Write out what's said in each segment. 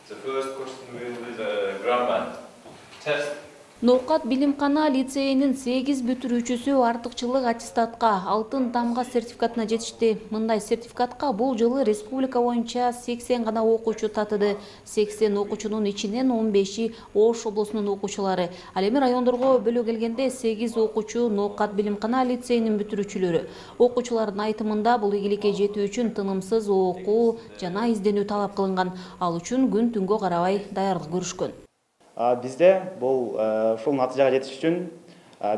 The first question will be the grammar test. Ноокат Билимкана лицейинин 8 бүтүрүүчүсү артыкчылык аттестатка алтын тамга сертификатына жетишти. Мындай сертификатка бул жылы республика боюнча 80 гана окуучу татыды. 80 окуучунун ичинен 15и Ош облусунун окуучулары. Ал эми райондорго бөлө келгенде 8 окуучу Ноокат Билимкана лицейинин бүтүрүүчүлөрү. Окуучулардын айтымында бул ийгиликке жетүү үчүн тынымсыз окуу жана изденүү талап кылынган. Ал үчүн күн түнгө карабай даярдык көрүшкөн. Бизде бул ушул натыйжага жетиш үчүн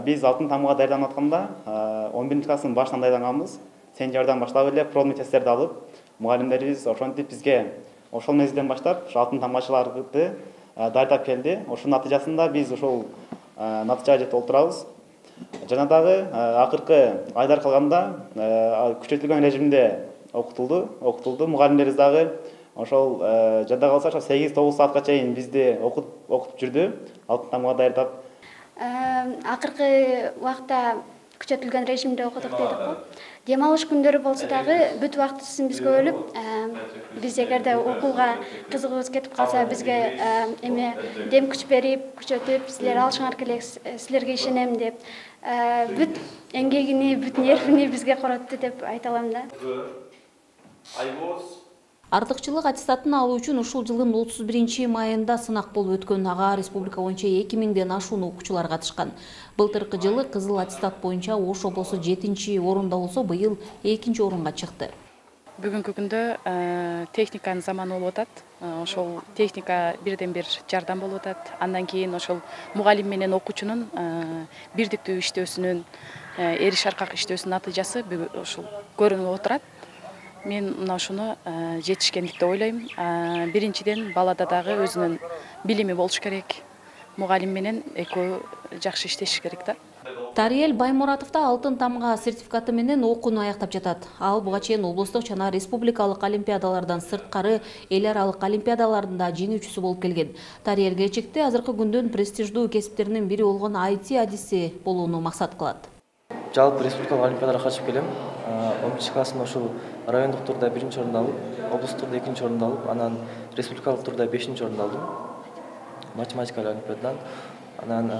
биз алтын тамга даярданып атканда 11-класстын башынан даярданганбыз. Сентябрдан баштап эле пробный тесттерди алып, мугалимдерибиз ошентип бизге ошол мезгилден баштап алтын тамгачыларды даярдап келди. Ошонун натыйжасында биз ушул натыйжага жетип олтурабыз. Жана дагы акыркы айлар калганда күчөтүлгөн режимде окутулду. Мугалимдерибиз дагы ошол жада калса 8-9 саатка чейин бизди окутуп жүрдү, алтын тамга даярдап. Акыркы убакта күчөтүлгөн режимде окудук дедик го. Дем алыш күндөрү болсо дагы бүт убактысын бизге бөлүп, биз эгерде окууга кызыгыбыз кетип калса, бизге эме дем күч берип, күчөтүп, силер алышыңар керек, силерге ишенем деп, бүт эмгегини, бүт нервини бизге коротду деп айта алам да. Артыкчылык аттестатын алуу үчүн ушул жылдын 31-майында сынак болуп өткөн. Ага республика боюнча 2000ден ашуун окуучулар катышкан. Былтыркы жылы кызыл аттестат боюнча Ош облусу 7-орунда болсо, быйыл 2-орунга чыкты. Бүгүнкү күндө техниканын заманы болуп атат. Ошол техника бирден бир жардам болуп атат. Андан кийин ошол мугалим менен окуучунун бирдиктүү иштөөсүнүн, эриш аркак иштөөсүнүн натыйжасы ошол көрүнүп отурат. Мен мына ушуну жетишкендик деп ойлойм. Биринчиден балада дагы өзүнүн билими болуш керек. Мугалим менен экөө жакшы иштеши керек да. Тариел Баймуратов да алтын тамга сертификаты менен окууну аяктап жатат. Ал буга чейин облустук жана республикалык олимпиадалардан сырткары эл аралык олимпиадаларында жеңүүчүсү болуп келген. Тариел келечекте азыркы күндүн престиждүү кесиптеринин бири болгон IT адиси болууну максат кылат. Жалпы республикалык олимпиадага катышып келем. 11-классымда ушул райондук турда 1-орунду алып, облустук турда 2-орунду алып, анан республикалык турда 5-орунду алдым. Математика олимпиададан. Анан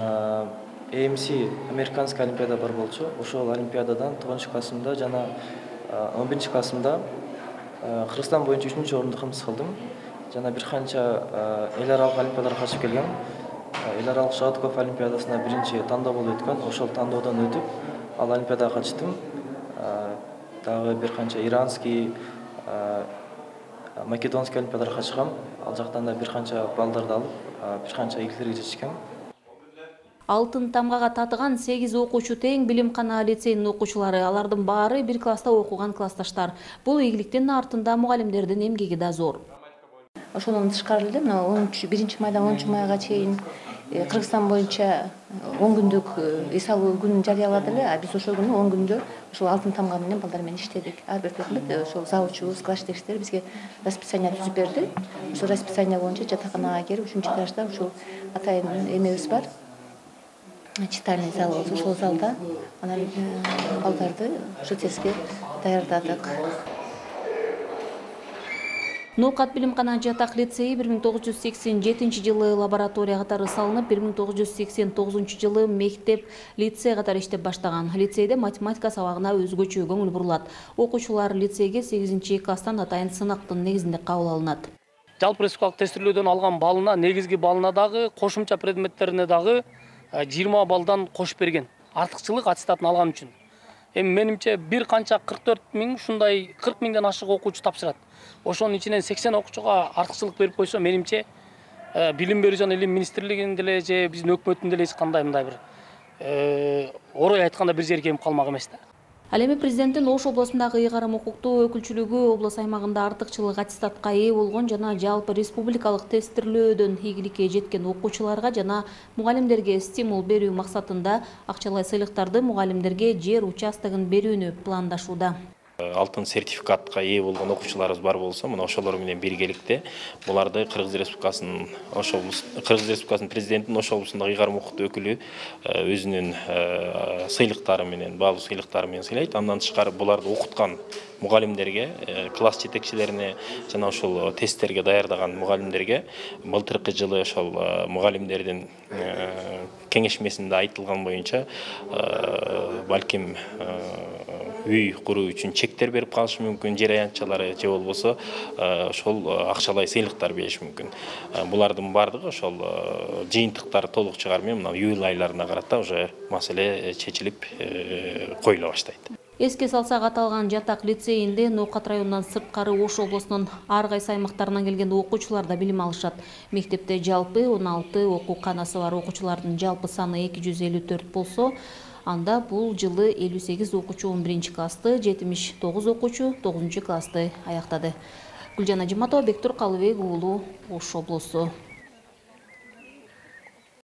AMC американский олимпиада бар болчу. Ошол олимпиададан 9-классымда жана 11-классымда Кыргызстан боюнча 3-орунду кымсыз кылдым. Жана бир канча эл аралык олимпиадаларга катышып келгем. Эл аралык Шагатков олимпиадасына биринчи тандоо болуп өткөн. Ошол тандоодон өтүп, ал олимпиадага катыштым. Дагы бир канча иранский, македонский олимпиадаларга катышкам. Ал жактан да бир канча балдарды алып, бир канча ийгиликтерге жетишкем. Алтын тамгага татыган 8 окуучу тең Билимкана лицейинин окуучулары. Алардын баары бир класста окуган классташтар. Бул ийгиликтин артында мугалимдердин эмгеги да зор. Ошондон тышкары эле мына 1-майдан 10-майга чейин Кыргызстан боюнча 10 күндүк эс алуу күнүн жарыялады эле. Биз ошол күнү 10 күндө ошол алтын тамга менен балдар менен иштедик. Ар бир предмет ошол завучубуз, класс жетекчилери бизге расписание түзүп берди. Ошол расписание боюнча жатаканага келип, 3-этажда ушул атайын эмебиз бар. Читальный зал болсо, ошол залда анан балдарды ошо тестке даярдадык. Ноокат Билимкана жатак лицейи 1987-жылы лаборатория катары салынып, 1989-жылы мектеп лицей катары иштеп баштаган. Лицейде математика сабагына өзгөчө көңүл бурулат. Окуучулар лицейге 8-класстан атайын сынактын негизинде кабыл алынат. Жалпы республикалык тестирлөөдөн алган балына, негизги балына дагы, кошумча предметтерине дагы 20 балдан кошуп берген. Артыкчылык аттестатын алган үчүн. Эми менимче бир канча 44 000, ушундай 40 000ден ашык окуучу тапшырат. Ошонун ичинен 80 окуучуга артыкчылык берип койсо, менимче билим берүү жана илим министрлигинин деле же биздин өкмөттүн деле эч кандай мындай бир орой айтканда бир жери кемип калмак эмес да. Ал эми президенттин Ош облусундагы ыйгарым укуктуу өкүлчүлүгү облус аймагында артыкчылык аттестатка ээ болгон жана жалпы республикалык тестирлөөдөн ийгиликке жеткен окуучуларга жана мугалимдерге стимул берүү максатында акчалай сыйлыктарды мугалимдерге жер участогун берүүнү пландашууда. алтын сертификатка ээ болгон окуучуларыбыз бар болсо, мына ошолор менен биргеликте буларды Кыргыз Республикасынын президентинин Ош облусундагы ыйгарым укуктуу өкүлү өзүнүн сыйлыктары менен, баалуу сыйлыктары менен сыйлайт. Андан тышкары буларды окуткан мугалимдерге, класс жетекчилерине жана ошол тесттерге даярдаган мугалимдерге былтыркы жылы ошол мугалимдердин кеңешмесинде айтылган боюнча балким үй куруу үчүн чектер берип калышы мүмкүн, жер аянтчалары же болбосо ошол акчалай сыйлыктар бериши мүмкүн. Булардын бардыгы ошол жыйынтыктары толук чыгар менен мына июль айларына карата уже маселе чечилип коюла баштайт. Эске салсак, аталган жатак лицейинде Ноокат районунан сырткары Ош облусунун ар кайсы аймактарынан келген окуучулар да билим алышат. Мектепте жалпы 16 окуу канасы бар окуучулардын жалпы саны 254 болсо, анда бул жылы 58 окуучу 11-классты, 79 окуучу 9-классты аяктады. Гүлжан Ажиматова, Бектур Калыбек уулу, Ош облусу.